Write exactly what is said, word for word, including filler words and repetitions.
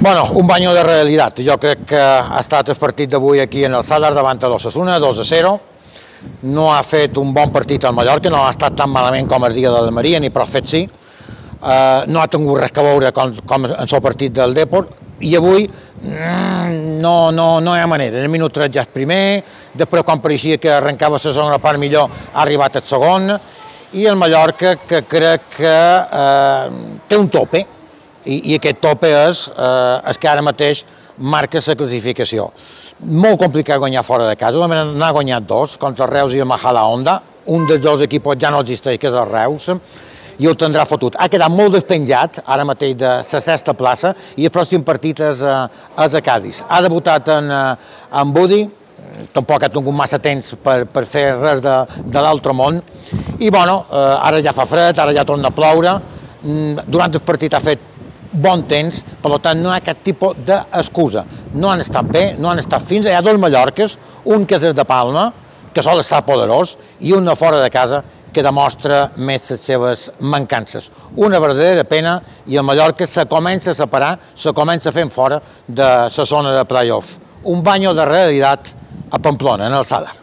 Bueno, un banyo de realitat. Jo crec que ha estat el partit d'avui aquí en el Sadar davant de l'Osasuna, dos a zero. No ha fet un bon partit al Mallorca, no ha estat tan malament com el dia de l'Almeria, ni prou fet sí. Uh, no ha tingut res a veure com, com en el partit del Depor, i avui mm, no, no, no hi ha manera. En el minut tres ja és primer, després quan pareixia que arrencava la segona part millor ha arribat el segon, i el Mallorca que crec que uh, té un tope, i, i aquest tope és uh, el que ara mateix marca la classificació. Molt complicat guanyar fora de casa, n'ha guanyat dos, contra el Reus i el Majadahonda, un dels dos equips ja no existeix, que és el Reus, i ho tindrà fotut. Ha quedat molt despenjat, ara mateix, de la sexta plaça, i el pròxim partit és, és a Cádiz. Ha debutat en, en Budi, tampoc ha tingut massa temps per, per fer res de, de l'altre món, i bueno, ara ja fa fred, ara ja torna a ploure, durant el partit ha fet bon temps, per tant no hi ha cap tipus d'excusa. No han estat bé, no han estat fins, hi ha dos Mallorques, un que és el de Palma, que sol estar poderós, i un de fora de casa, que demostra més les seves mancances. Una verdadera pena, i el Mallorca se comença a separar, se comença fent fora de la zona de play-off. Un banyo de realitat a Pamplona, en el Sadar.